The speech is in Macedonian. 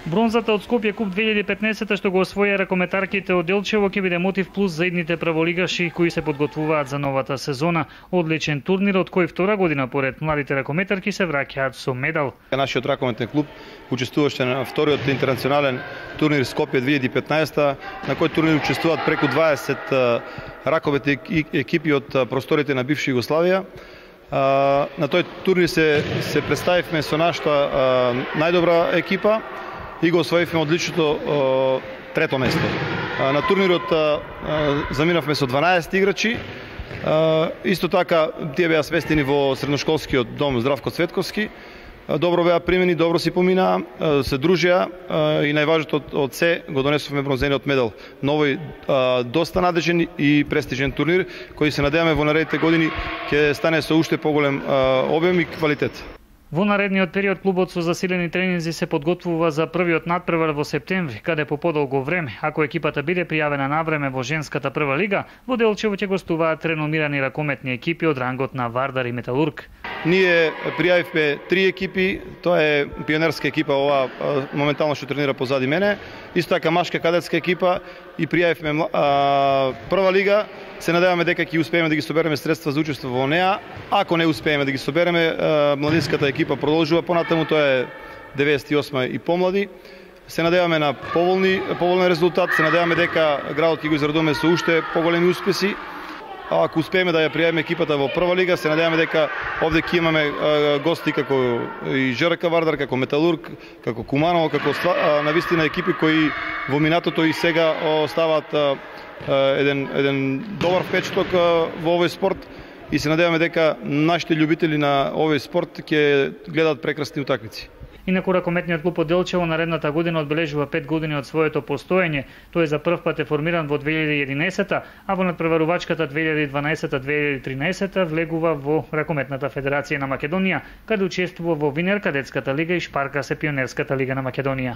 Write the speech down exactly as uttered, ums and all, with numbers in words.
Бронзата од Скопје Куп две илјади и петнаесетта што го освоија ракометарките од Делчево ќе биде мотив плюс за идните праволигаши кои се подготвуваат за новата сезона. Одличен турнир од кој втора година поред младите ракометарки се враќаат со медал. Нашиот ракометен клуб учествуваше на вториот интернационален турнир Скопје две илјади и петнаесетта, на кој турнир учествуваат преку дваесет ракометни екипи од просториите на бивша Југославија. На тој турнир се се представивме со нашата најдобра екипа и го освоивме одличното трето место. На турнирот заминавме со дванаесет играчи. Исто така тие беа сместени во средношколскиот дом Здравко Цветковски. Добро беа примени, добро си поминаа, се дружија и најважното од се го донесовме бронзениот медал. Новој доста надежен и престижен турнир кој се надеваме во наредните години ќе стане со уште поголем обем и квалитет. Во наредниот период клубот со засилени тренинзи се подготвува за првиот надпревар во септември, каде по подолго време, ако екипата биде пријавена навреме во женската прва лига, во Делчево ќе гостуваат реномирани ракометни екипи од рангот на Вардар и Металург. Ние пријавивме три екипи, тоа е пионерска екипа, ова моментално што тренира позади мене, исто така машка кадетска екипа и пријавивме прва лига. Се надеваме дека ќе успееме да ги собереме средства за учество во неа. Ако не успееме да ги собереме, младинската екипа продолжува понатаму, тоа е деветдесет и осма и помлади. Се надеваме на поволни, поволен резултат, се надеваме дека градот ќе го израдуваме со уште поголеми успеси. А ако успееме да ја пријавиме екипата во прва лига, се надеваме дека овде ќе имаме гости како и ЖРК Вардар, како Металург, како Куманово, како навистина екипи кои во минатото и сега оставаат еден еден добар впечаток во овој спорт и се надеваме дека нашите љубители на овој спорт ќе гледаат прекрасни утакмици. Инаку ракометниот клуб од Делчево наредната година одбележува пет години од своето постоење. Тој за прв пат е формиран во две илјади и единаесетта, а во надпреварувачката две илјади и дванаесетта - две илјади и тринаесетта влегува во Ракометната федерација на Македонија, каде учествува во Винер кадетската лига и Шпарка се пионерската лига на Македонија.